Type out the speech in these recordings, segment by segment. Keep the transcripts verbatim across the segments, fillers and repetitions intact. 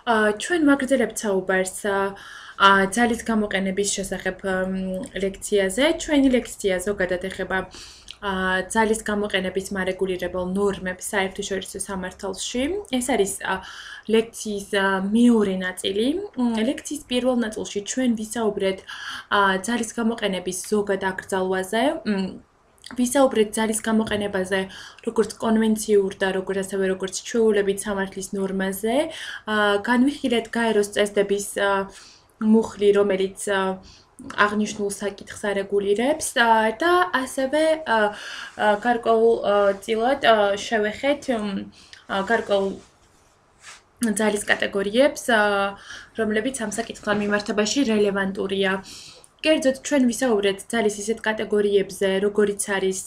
ჩვენ ვაგრძელებთ საუბარს ძალის გამოყენების შესახებ ლექციაზე. ჩვენი ლექცია ზოგადად ეხება ძალის გამოყენების მარეგულირებელ ნორმებს საერთაშორისო სამართალში. ეს არის ლექციის მეორე ნაწილი. ლექციის პირველ ნაწილში ჩვენ ვისაუბრეთ ძალის გამოყენების ზოგად აკრძალვაზე. ვისაუბრეთ ძალის გამოყენებაზე, როგორც კონვენციურ და როგორც ასევე როგორც ჩვეულებით სამართლის ნორმაზე. განვიხილეთ გაეროს წესდების მუხლი, რომელიც აღნიშნულ საკითხს არეგულირებს და ასევე გარკვეულწილად შევეხეთ გარკვეულ ძალის კატეგორიებს, რომლებიც ამ საკითხთან მიმართებაში რელევანტურია. კერძოდ ჩვენ ვისაუბრეთ ძალის ისეთ კატეგორიებზე, როგორიც არის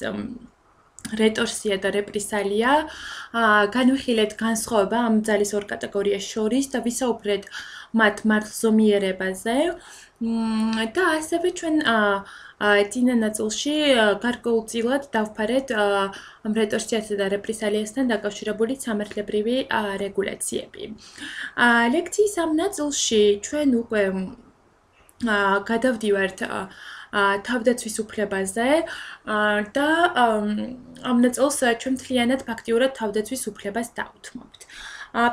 რეტორსია და რეპრესალია. განვიხილეთ განსხვავება ამ ძალის ორ კატეგორიას შორის და ვისაუბრეთ მათ მართლზომიერებაზე. და ასევე ჩვენ წინა ნაწილში გარკვეულწილად დავფარეთ ამ რეტორსიასა და რეპრესალიასთან დაკავშირებული სამართლებრივი რეგულაციები. ლექციის ამ ნაწილში ჩვენ უკვე გადავდივართ თავდაცვის უფლებაზე და ამ ნაწილს ჩვენ მთლიანად ფაქტიურად თავდაცვის უფლებას დავუთმობთ.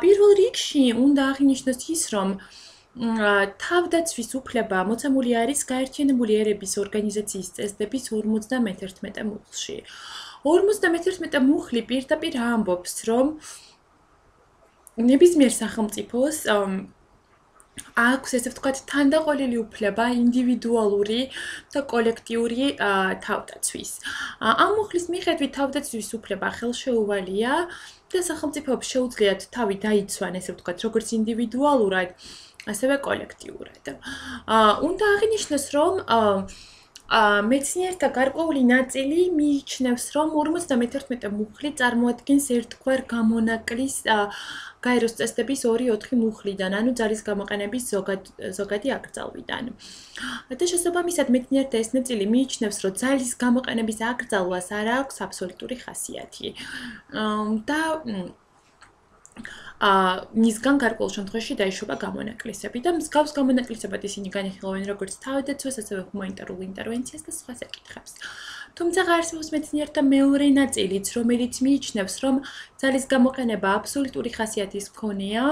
პირველ რიგში უნდა აღინიშნოს ის, რომ თავდაცვის უფლება მოცემული არის გაერთიანებული ერების ორგანიზაციის წესდების ორმოცდამეთერთმეტე მუხლში. ორმოცდამეთერთმეტე მუხლი პირდაპირ ამბობს, რომ ნებისმიერ სახელმწიფოს აქვს, ესე ვთქვათ, თანდაყოლილი უფლება ინდივიდუალური და კოლექტიური თავდაცვის. ამ მუხლის მიხედვით თავდაცვის უფლება ხელშეუვალია და სახელმწიფოებს შეუძლიათ თავი დაიცვან, ესე ვთქვათ, როგორც ინდივიდუალურად, ასევე კოლექტიურად. უნდა აღინიშნოს, რომ მეცნიერთა გარკვეული ნაწილი მიიჩნევს, რომ ორმოცდამეთერთმეტე მუხლი წარმოადგენს ერთგვარ გამონაკლის გაეროს წესდების ორი ოთხი მუხლიდან, ანუ ძალის გამოყენების ზოგადი აკრძალვიდან. და შესაბამისად მეცნიერთა ეს ნაწილი მიიჩნევს, რომ ძალის გამოყენების აკრძალვას არ აქვს აბსოლუტური ხასიათი. და მისგან გარკვეულ შემთხვევაში დაიშობა გამონაკლისები და მსგავს გამონაკლისებად ისინი განიხილავენ როგორც თავდაცვას, ასევე ჰუმანიტარულ ინტერვენციას და სხვა საკითხებს. თუმცა არსებობს მეცნიერთა მეორე ნაწილიც, რომელიც მიიჩნევს, რომ ძალის გამოყენება აბსოლუტური ხასიათის მქონეა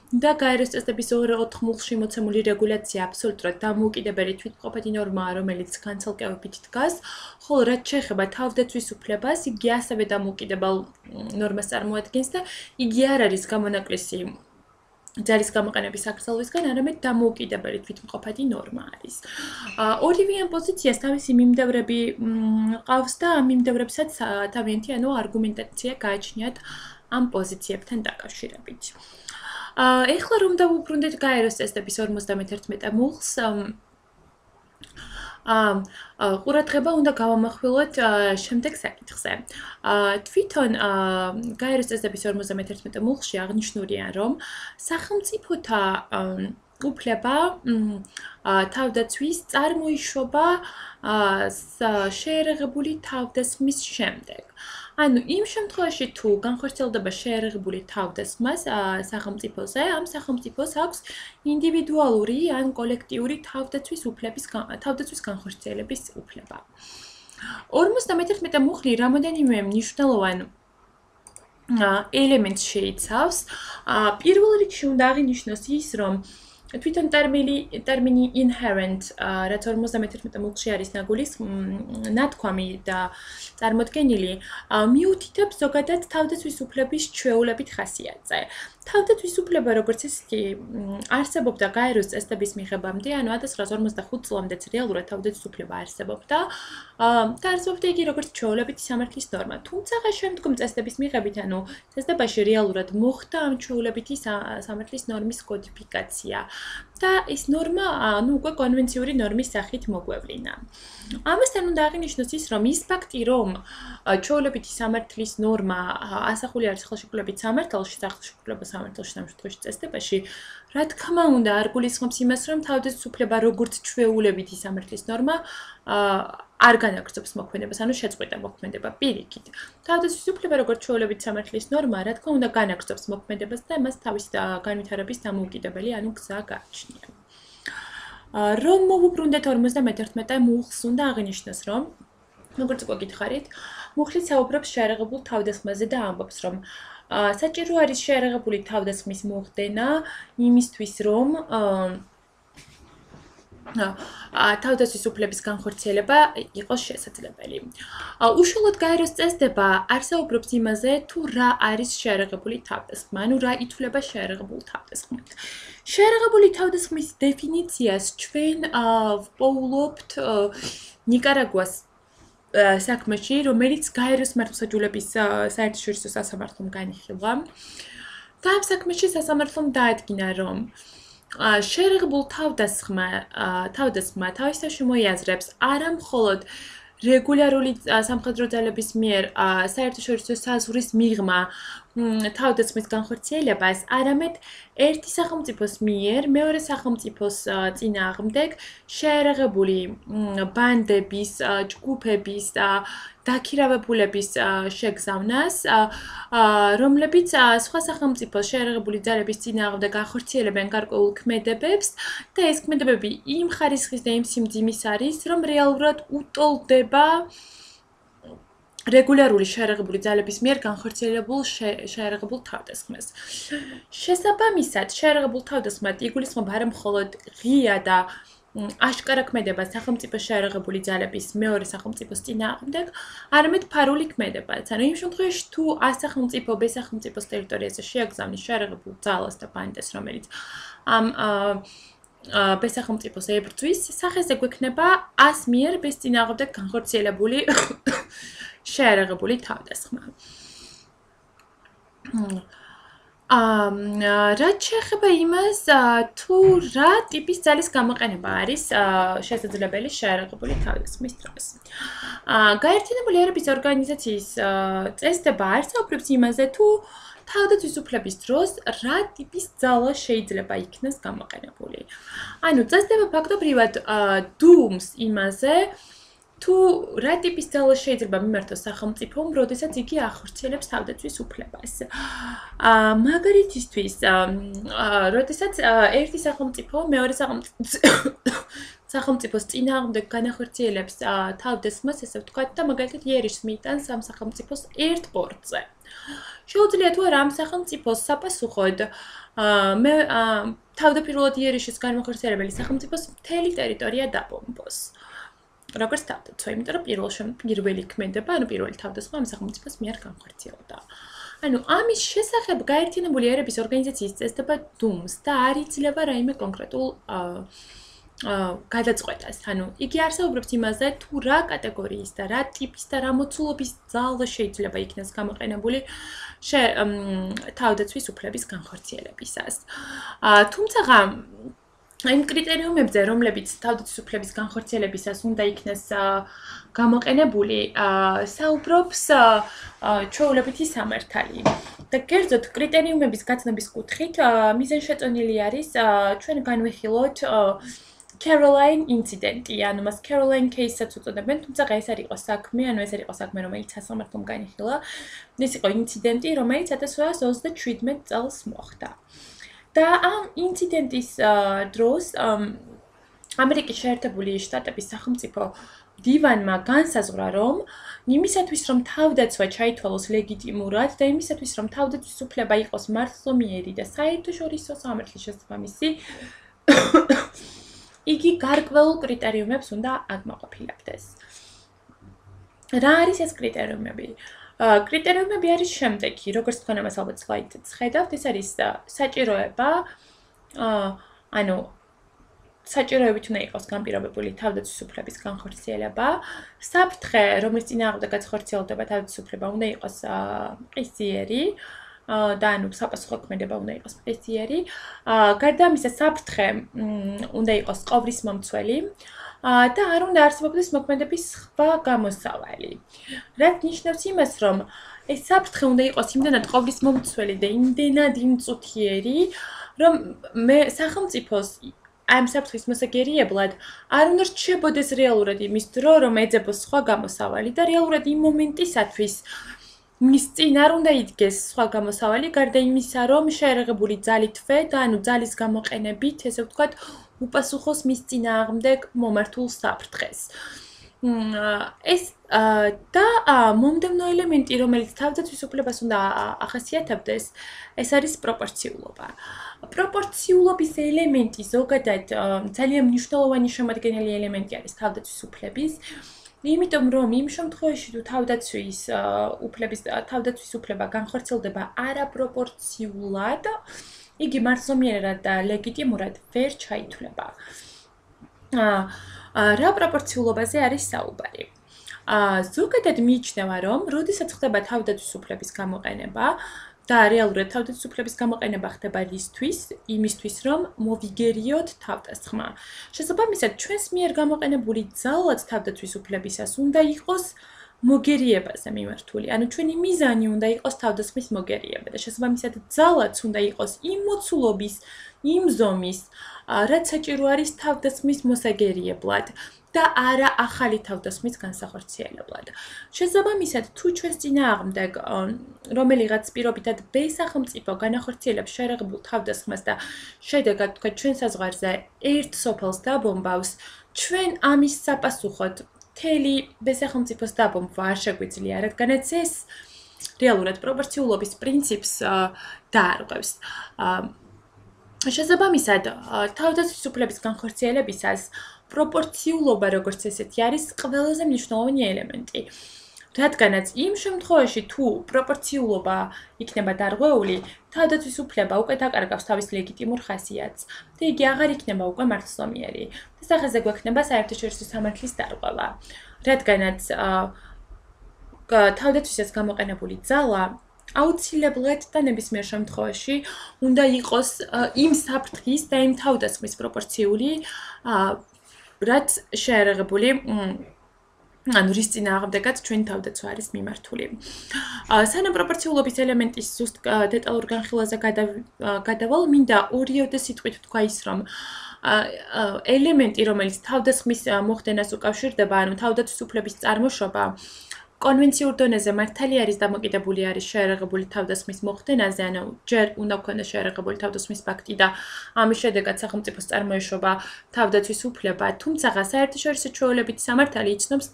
და გაეროს წესდების ორ ოთხ მუხლში მოცემული რეგულაცია აბსოლუტურად დამოუკიდებელი თვითმყოფადი ნორმაა, რომელიც განცალკევებით დგას, ხოლო რაც შეეხება თავდაცვის უფლებას, იგი ასევე დამოუკიდებელ ნორმას წარმოადგენს და იგი არ არის გამონაკლისი ძალის გამოყენების აკრძალვისგან, არამედ დამოუკიდებელი თვითმყოფადი ნორმა არის. ორივე ამ პოზიციას თავისი მიმდევრები ყავს და ამ მიმდევრებსაც თავიანთი ანუ არგუმენტაცია გააჩნიათ ამ პოზიციებთან დაკავშირებით. ეხლა რომ დავუბრუნდეთ გაეროს წესდების ორმოცდამეთერთმეტე მუხლს, ყურადღება უნდა გავამახვილოთ შემდეგ საკითხზე. თვითონ გაეროს წესდების ორმოცდამეთერთმეტე მუხლში აღნიშნულია, რომ სახელმწიფოთა უფლება თავდაცვის წარმოიშობა შეერაღებული თავდასხმის შემდეგ. ანუ იმ შემთხვევაში თუ განხორციელდება შეერაღებული თავდასხმა სახელმწიფოზე, ამ სახელმწიფოს აქვს ინდივიდუალური ან კოლექტიური თავდაცვის უფლების თავდაცვის განხორციელების უფლება. ორმოცდამეთერთმეტე მუხლი რამოდენიმე მნიშვნელოვან ელემენტს შეიცავს. პირველ რიგში უნდა აღინიშნოს ის, რომ თვითონ ტერმინი inherent, რაც ორმოცდამეთერთმეტე მუხლში არის ნაგულის ნათქვამი და წარმოდგენილი, მიუთითებს ზოგადად თავდაცვის უფლების ჩვეულებით ხასიათზე. თავდაცვის უფლება, როგორც ისეთი, არსებობდა გაეროს წესდების მიღებამდე, ანუ ათას ცხრაასი ორმოცდახუთ წლამდეც რეალურად თავდაცვის უფლება არსებობდა და არსებობდა იგი როგორც ჩვეულებითი სამართლის ნორმა. თუმცა შემდგომ წესდების მიღებით, ანუ წესდებაში რეალურად მოხდა ამ ჩვეულებითი სამართლის ნორმის კოდიფიკაცია და ეს ნორმა, ну, უკვე კონვენციური ნორმის სახით მოგვევლინა. ამასთან უნდა აღინიშნოს ის, რომ ის ფაქტი, რომ ჩვეულებითი სამართლის ნორმა ასახული არის ხელშეკრულებით სამართალში, სახელმწიფო სამართალში ამ შემთხვევაში წესდებაში, რა თქმა უნდა, არ გულისხმობს იმას, რომ თავდაცვითი როგორც ჩვეულებითი სამართლის ნორმა არ განაგრძობს მოქმედებას, ანუ შეწყვეტა მოქმედება პირიქით. თავდაცვითი უფლება როგორც ჩვეულებითი სამართლის ნორმა, რა თქმა უნდა, განაგრძობს მოქმედებას და მას თავის განვითარების დამოუკიდებელი, ანუ გზა გააჩნია. რომ მოვუბრუნდეთ ორმოცდამეთერთმეტე მუხლს უნდა აღინიშნოს, რომ როგორც უკვე გითხარით, მუხლი საუბრობს შეერაღებულ თავდასხმაზე და ამბობს, რომ საჭირო არის შეერაღებული თავდასხმის მოხდენა იმისთვის, რომ თავდაცვის უფლების განხორციელება იყოს შესაძლებელი. უშუალოდ გაეროს წესდება არსაუბრობს იმაზე, თუ რა არის შეერაღებული თავდასხმა, ანუ რა ითვლება შეერაღებულ თავდასხმით. შეერაღებული თავდასხმის დეფინიციას ჩვენ ვპოულობთ ნიკარაგუას საქმეში, რომელიც გაეროს მართლმსაჯულების საერთაშორისო სასამართლომ განიხილვა. და ამ საქმეში სასამართლომ დაადგინა, რომ შეერაღებულ თავდასხმა თავდასხმა თავისთავში მოიაზრებს არა მხოლოდ რეგულარული სამხედრო ძალების მიერ საერთაშორისო საზღვრის მიღმა თავდასხმის განხორციელებას, არამედ ერთი სახელმწიფოს მიერ მეორე სახელმწიფოს წინააღმდეგ შეერაღებული ბანდების, ჯგუფების დაქირავებულების შეგზავნას, რომლებიც სხვა სახელმწიფოს შეერაღებული ძალების წინააღმდეგ ახორციელებენ გარკვეულ ქმედებებს და ეს ქმედებები იმ ხარისხის და იმ სიმძიმის არის, რომ რეალურად უტოლდება რეგულარული შეერაღებული ძალების მიერ განხორციელებულ შეერაღებულ თავდასხმას. შესაბამისად, შეერაღებულ თავდასხმად იგულისხმება არა მხოლოდ ღია და აშკარა ქმედება სახელმწიფოს შეერაღებული ძალების მეორე სახელმწიფოს წინააღმდეგ, არამედ ფარული ქმედებაც. ანუ იმ შემთხვევაში, თუ A სახელმწიფო B სახელმწიფოს ტერიტორიაზე შეაგზავნის შეერაღებულ ძალას და ბანდეს, რომელიც ამ B სახელმწიფოს ებრძვის, სახეზე გვექნება A-ს მიერ B-ს წინააღმდეგ განხორციელებული შეერაღებული თავდასხმა. რაც შეეხება იმას, თუ რა ტიპის ძალის გამოყენება არის შესაძლებელი შეერაღებული თავდასხმის დროს. გაერთიანებული ერების ორგანიზაციის წესდება არსაუბრებს იმაზე, თუ თავდაცვის უფლების დროს რა ტიპის ძალა შეიძლება იქნას გამოყენებული. ანუ წესდება ფაქტობრივად დუმს იმაზე, თუ რა ტიპის ძალა შეიძლება მიმართოს სახელმწიფომ, როდესაც იგი ახორციელებს თავდაცვის უფლებას. მაგალითისთვის, როდესაც ერთი სახელმწიფო მეორე სახელმწიფოს წინააღმდეგ განახორციელებს თავდასხმას, ესე ვთქვათ, და მაგალითად იერიშს მიიტანს ამ სახელმწიფოს ერთ პორტზე. შეუძლია თუ არა ამ სახელმწიფოს საპასუხოდ მე თავდაპირველად იერიშის განმახორციელებელი სახელმწიფოს მთელი ტერიტორია დაბომბოს. როგორც თავდაცვა, იმიტომ რომ პირველ პირველი ქმედება, ანუ პირველი თავდასხმა ამ სახელმწიფოს მიერ განხორციელდა. ანუ ამის შესახებ გაერთიანებული ერების ორგანიზაციის წესდება დუმს და არ იძლევა რაიმე კონკრეტულ გადაწყვეტას. ანუ იგი არსაუბრებს იმაზე, თუ რა კატეგორიის და რა ტიპის და რა მოცულობის ძალა შეიძლება იქნას გამოყენებული თავდაცვის უფლების განხორციელებისას. თუმცა იმ კრიტერიუმებზე, რომლებიც თავდაცვის უფლების განხორციელებისას უნდა იქნას გამოყენებული, საუბრობს ჩვეულებითი სამართალი. და კერძოდ კრიტერიუმების გაცნობის კუთხით მიზანშეწონილი არის ჩვენ განვიხილოთ Caroline ინციდენტი, ანუ მას Caroline case-საც უწოდებენ, თუმცა ეს არ იყო საქმე, ანუ ეს არ იყო საქმე, რომელიც სასამართლომ განიხილა. ეს იყო ინციდენტი, რომელიც ათას ოთხიას ოცდაშვიდმეტ წელს მოხდა. და ამ ინციდენტის დროს ამერიკის შეერთებული შტატების სახელმწიფო დივანმა განსაზღვრა, რომ იმისათვის, რომ თავდაცვა ჩაითვალოს ლეგიტიმურად და იმისათვის, რომ თავდაცვის უფლება იყოს მართლმიერი და საერთაშორისო სამართლის შესაბამისი, იგი გარკვეულ კრიტერიუმებს უნდა აკმაყოფილებდეს. რა არის ეს კრიტერიუმები? კრიტერიუმები არის შემდეგი, როგორც თქვენ ამას ალბათ სლაიდზეც ხედავთ, ეს არის საჭიროება, ანუ საჭიროებით უნდა იყოს განპირობებული თავდაცვის უფლების განხორციელება, საფრთხე, რომლის წინააღმდეგაც ხორციელდება თავდაცვის უფლება, უნდა იყოს ყისიერი, და ანუ საპასუხოქმედება უნდა იყოს მყისიერი. გარდა ამისა, საფრთხე უნდა იყოს ყოვრის მომცველი და არ უნდა არსებობდეს მოქმედების სხვა გამოსავალი. რაც ნიშნავს იმას, რომ ეს საფრთხე უნდა იყოს იმდენად ყოვრის მომცველი და იმდენად იმწუთიერი, რომ მე სახელმწიფოს ამ საფრთხის მოსაგერიებლად არ უნდა რჩებოდეს რეალურად იმის დრო, რომ ეძებოს სხვა გამოსავალი და რეალურად იმ მომენტისათვის მის წინ არ უნდა იდგეს სხვა გამოსავალი, გარდა იმისა, რომ შეერაღებული ძალით თვე და ანუ ძალის გამოყენებით, ესე ვთქვათ, უპასუხოს მის წინააღმდეგ მომართულ საფრთხეს. ეს და მომდევნო ელემენტი, რომელიც თავდაცვის უფლებას უნდა ახასიათებდეს, ეს არის პროპორციულობა. პროპორციულობის ელემენტი ზოგადად ძალიან მნიშვნელოვანი შემადგენელი ელემენტი არის თავდაცვის უფლების. იმიტომ რომ იმ შემთხვევაში თუ თავდაცვის უფლების თავდაცვის უფლება განხორციელდება არაპროპორციულად, იგი მარცვლოვნიერად და ლეგიტიმურად ვერ ჩაითვლება. რა პროპორციულობაზე არის საუბარი? ზოგადად მიიჩნევა, რომ როდესაც ხდება თავდაცვის უფლების გამოყენება და რეალურად თავდაცვის უფლების გამოყენება ხდება რისთვის? იმისთვის, რომ მოვიგერიოთ თავდასხმა. შესაბამისად, ჩვენს მიერ გამოყენებული ძალაც თავდაცვის უფლებისას უნდა იყოს მოგერიებაზე მიმართული. ანუ ჩვენი მიზანი უნდა იყოს თავდასხმის მოგერიება და შესაბამისად ძალაც უნდა იყოს იმ მოცულობის, იმ ზომის, რაც საჭირო არის თავდასხმის მოსაგერიებლად და არა ახალი თავდასხმის განსახორციელებლად. შესაბამისად, თუ ჩვენს წინააღმდეგ რომელიღაც პირობითად ბ სახელმწიფო განახორციელებს შეერაღებულ თავდასხმას და შედეგად თქვა ჩვენ საზღვარზე ერთ სოფელს დაბომბავს, ჩვენ ამის საპასუხოდ მთელი ბ სახელმწიფოს დაბომბვა არ შეგვიძლია, რადგანაც ეს რეალურად პროპორციულობის პრინციპს დაარღვევს. შესაბამისად, თავდაცვის უფლების განხორციელებისას პროპორციულობა როგორც ესეთი არის ყველაზე მნიშვნელოვანი ელემენტი. რადგანაც იმ შემთხვევაში თუ პროპორციულობა იქნება დარღვეული, თავდაცვის უფლება უკვე დაკარგავს თავის ლეგიტიმურ ხასიათს და იგი აღარ იქნება უკვე მართლმსვენიერი. ეს ახაზე გვექნება საერთაშორისო სამართლის დარღვევა. რადგანაც თავდაცვისას გამოყენებული ძალა აუცილებლად და ნებისმიერ შემთხვევაში უნდა იყოს იმ საფრთხის და იმ თავდასხმის პროპორციული, რაც შეერაღებული ანუ რის წინააღმდეგაც ჩვენი თავდაცვა არის მიმართული. სანამ პროპორციულობის ელემენტის ზუსტ დეტალურ განხილვაზე გადავალ, მინდა ორიოდე სიტყვით ვთქვა ის, რომ ელემენტი, რომელიც თავდასხმის მოხდენას უკავშირდება, ანუ თავდაცვის უფლების წარმოშობა, კონვენციურ დონეზე მართალი არის დამოკიდებული არის შეერაღებული თავდასხმის მოხდენაზე, ანუ ჯერ უნდა გქონდეს შეერაღებული თავდასხმის ფაქტი და ამის შედეგად სახელმწიფოს წარმოეშობა თავდაცვის უფლება, თუმცა საერთაშორისო ჩვეულებითი სამართალი იცნობს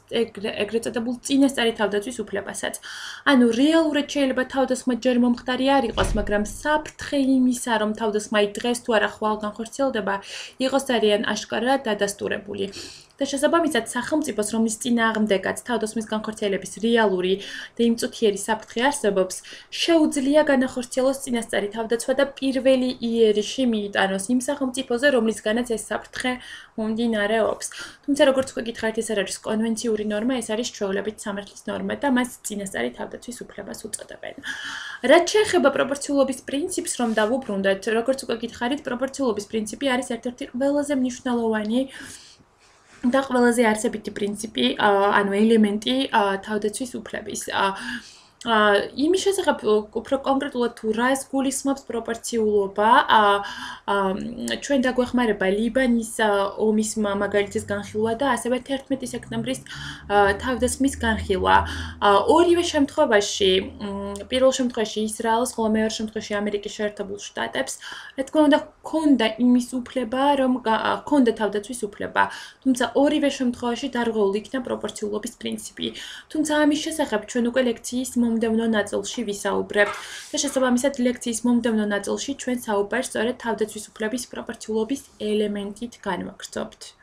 ეგრეთ წოდებულ წინასწარი თავდაცვის უფლებასაც. ანუ რეალურად შეიძლება თავდასხმა ჯერ მომხდარი არ იყოს, მაგრამ საფრთხე იმისა, რომ თავდასხმა დღეს თუ არა ხვალ განხორციელდება, იყოს ძალიან აშკარად დადასტურებული. და შესაბამისად სახელმწიფოს, რომლის წინააღმდეგაც თავდასხმის განხორციელების რეალური და იმწუთიერი საფრთხე არსებობს, შეუძლია განახორციელოს წინასწარი თავდაცვა და პირველი იერიში მიიტანოს იმ სახელმწიფოზე, რომლისგანაც ეს საფრთხე მომდინარეობს. თუმცა როგორც უკვე გითხარით, ეს არ არის კონვენციური ნორმა, ეს არის ჩვეულებითი სამართლის ნორმა და მას წინასწარი თავდაცვის უფლებას უწოდებენ. რაც შეეხება პროპორციულობის პრინციპს, რომ დავუბრუნდეთ, როგორც უკვე გითხარით, პროპორციულობის პრინციპი არის ერთ-ერთი ყველაზე მნიშვნელოვანი და ყველაზე არსებითი პრინციპი, ანუ ელემენტი თავდაცვის უფლების. იმის შესახებ უფრო კონკრეტულად თუ რას გულისხმობს პროპორციულობა, ჩვენ დაგვეხმარება ლიბანის ომის მაგალითის განხილვა და ასევე თერთმეტი სექტემბრის თავდასხმის განხილვა. ორივე შემთხვევაში, პირველ შემთხვევაში ისრაელს, ხოლო მეორე შემთხვევაში ამერიკის შეერთებულ შტატებს, რა თქმა უნდა, ჰქონდა იმის უფლება, რომ ჰქონდა თავდაცვის უფლება, თუმცა ორივე შემთხვევაში დარღვეული იქნა პროპორციულობის პრინციპი. თუმცა ამის შესახებ ჩვენ უკვე ლექციის მომდევნო ნაწილში ვისაუბრებთ და შესაბამისად ლექციის მომდევნო ნაწილში ჩვენ საუბარს სწორედ თავდაცვის უფლების პროპორციულობის ელემენტით განვაგრძობთ.